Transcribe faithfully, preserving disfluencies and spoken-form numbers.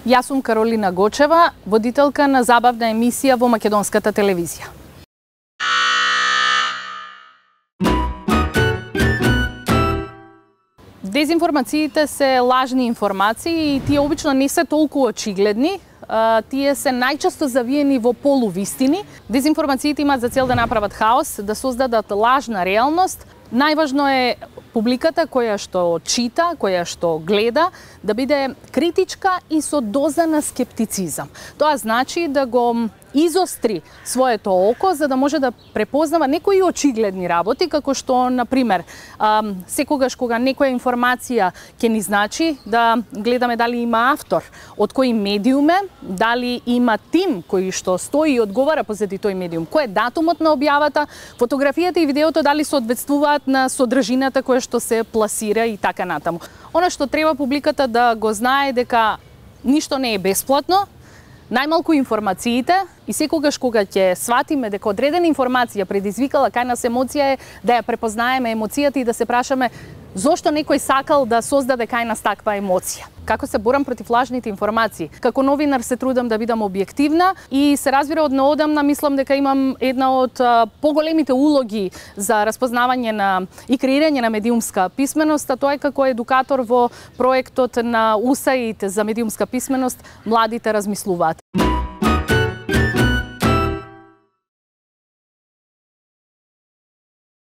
Јас сум Каролина Гочева, водителка на забавна емисија во македонската телевизија. Дезинформациите се лажни информации и тие обично не се толку очигледни. Тие се најчесто завиени во полувистини. Дезинформациите имаат за цел да направат хаос, да создадат лажна реалност. Најважно е публиката која што чита, која што гледа, да биде критичка и со доза на скептицизам. Тоа значи да го изостри своето око за да може да препознава некои очигледни работи, како што, например, секогаш кога некоја информација ќе ни значи да гледаме дали има автор, од кој медиум е, дали има тим кој што стои и одговара позади тој медиум, кој е датумот на објавата, фотографијата и видеото дали соодветствуваат на содржината која што се пласира и така натаму. Она што треба публиката да го знае дека ништо не е бесплатно, најмалку информациите, и секогаш кога ќе сватиме дека одредена информација предизвикала кај нас емоција е да ја препознаеме емоцијата и да се прашаме зошто некој сакал да создаде кај нас таква емоција. Како се борам против лажните информации? Како новинар се трудам да бидам објективна и се разбира од наодамна мислам дека имам една од поголемите улоги за распознавање на и креирање на медиумска писменост, а тоа е како едукатор во проектот на УСАИД за медиумска писменост Младите размислуваат.